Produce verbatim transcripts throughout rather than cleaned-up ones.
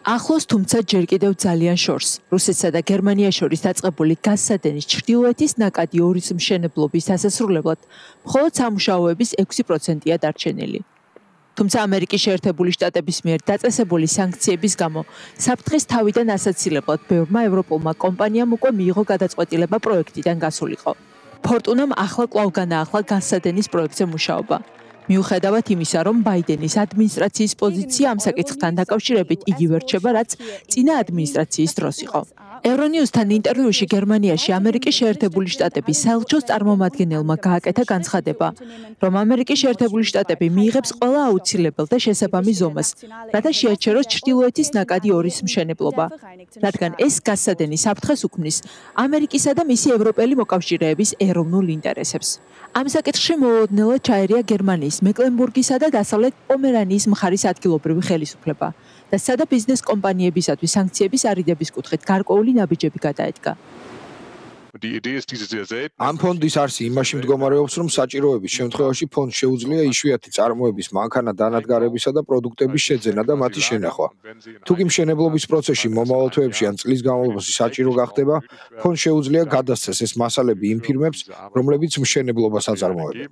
ახლოს, თუმცა ჯერ კიდევ ძალიან შორს. რუსეთსა და გერმანიას შორის დაწყებული გაზსადენის ჩრდილოეთის ნაკადი ორის მშენებლობის დასასრულებლად მხოლოდ სამუშაოების ექვსი პროცენტია დარჩენილი. თუმცა ამერიკის შეერთებული შტატების მიერ დაწესებული სანქციების გამო საფრთხის თავიდან ასაცილებლად ბევრმა ევროპულმა კომპანიამ უკვე მიიღო გადაწყვეტილება პროექტიდან გასულიყო. ფორტუნამ ახლა კვლავ განაახლა გაზსადენის პროექტზე მუშაობა. მიუხედავად იმისა, რომ ბაიდენის ადმინისტრაციის პოზიცია ამ საკითხთან დაკავშირებით იგივე რჩება, რაც წინა ადმინისტრაციის დროს იყო. ევრონიუსთან ინტერვიუში გერმანიაში ამერიკის შეერთებული შტატების საელჩოს წარმომადგენელმა გააკეთა განცხადება, რომ ამერიკის შეერთებული შტატები მიიღებს ყველა აუცილებელ და შესაბამის ზომას, რათა შეაჩეროს ჩრდილოეთის ნაკადი ორის მშენებლობა, რადგან ეს გაზსადენი საფრთხეს უქმნის ამერიკისა და მისი ევროპელი მოკავშირეების ეროვნულ ინტერესებს. ამ საკითხში მოულოდნელად ჩაერია გერმანიის მეკლენბურგისა და დასავლეთ პომერანიის მხარის ადგილობრივი ხელისუფლება და სადა ბიზნეს კომპანიებისათვის სანქციების არიდების კუთხით გარკვეული ნაბიჯები გადაედგა. ამ ფონდის არსი იმაში მდგომარეობს, რომ საჭიროების შემთხვევაში ფონდს შეუძლია იშვიათი წარმოების მანქანა დანადგარებისა და პროდუქტების შეძენა და მათი შენახვა. თუ კი მშენებლობის პროცესში მომავალ თვეებში ან წლის განმავლობაში საჭირო გახდება, ფონდს შეუძლია გადასცეს ეს მასალები იმ ფირმებს, რომლებიც მშენებლობას აწარმოებენ.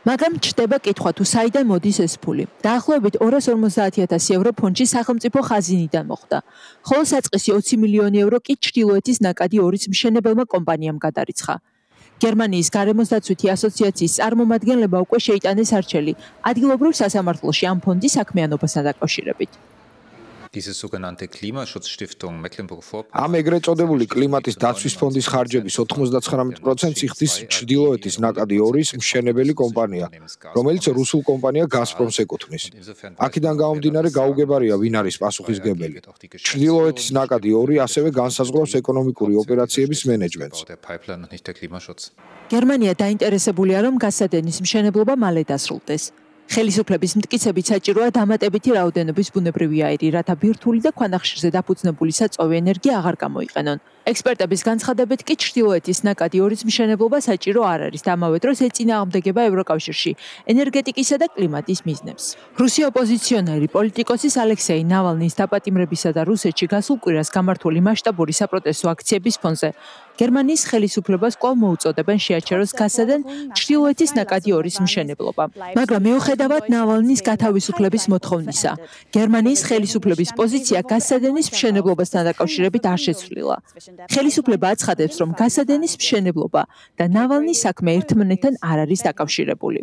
მაგრამ ჩნდება კითხვა, თუ საიდან მოდის ეს ფული. დაახლოებით ორას ორმოცდაათი ათასი ევრო ფონდში სახელმწიფო ხაზინიდან მოხვდა, ხოლო საწყისი ოცი მილიონი ევრო კი ჩრდილოეთის ნაკადი ორის მშენებელმა კომპანიამ გადარიცხა. გერმანიის გარემოსდაცვითი ასოციაციის წარმომადგენლებმა უკვე შეიტანეს არჩევი ადგილობრივ სასამართლოში ამ ფონდის საქმიანობასთან დაკავშირებით. ამ ეგრეთ წოდებული კლიმატის დაცვის ფონდის ხარჯების ოთხმოცდათხრამეტ პროცენტს იხდის ჩრდილოეთის ნაკადი ორის მშენებელი კომპანია, რომელიც რუსულ კომპანია გაზპრომს ეკუთვნის. აქედან გამომდინარე გაუგებარია, ვინ არის პასუხისმგებელი. ჩრდილოეთის ნაკადი ორი ასევე განსაზღვრავს ეკონომიკური ოპერაციების მენეჯმენტს. გერმანია დაინტერესებულია, რომ გაზსადენის მშენებლობა მალე დასრულდეს. ხელისუფლების მტკიცებით საჭიროა დამატებითი რაოდენობის ბუნებრივი აირი, რათა ბირთვული და ქვანახშირზე დაფუძნებული საწვავი ენერგია აღარ გამოიყენონ. ექსპერტების განცხადებით კი ჩრდილოეთის ნაკადი ორის მშენებლობა საჭირო არ არის და ამავე დროს ეწინააღმდეგება ევროკავშირში ენერგეტიკისა და კლიმატის მიზნებს. რუსი ოპოზიციონერი პოლიტიკოსის ალექსეი ნავალნის დაპატიმრებისა და რუსეთში გასულ კვირას გამართული მასშტაბური საპროტესტო აქციების ფონზე გერმანიის ხელისუფლებას კვლავ მოუწოდებენ შეაჩეროს გაზსადენ ჩრდილოეთის ნაკადი ორის მშენებლობა. მაგრამ მიუხედავად ნავალნის გათავისუფლების მოთხოვნისა, გერმანიის ხელისუფლების პოზიცია გაზსადენის მშენებლობასთან დაკავშირებით არ შეცვლილა. ხელისუფლება აცხადებს, რომ გაზსადენის მშენებლობა და ნავალნის საქმე ერთმანეთთან არ არის დაკავშირებული.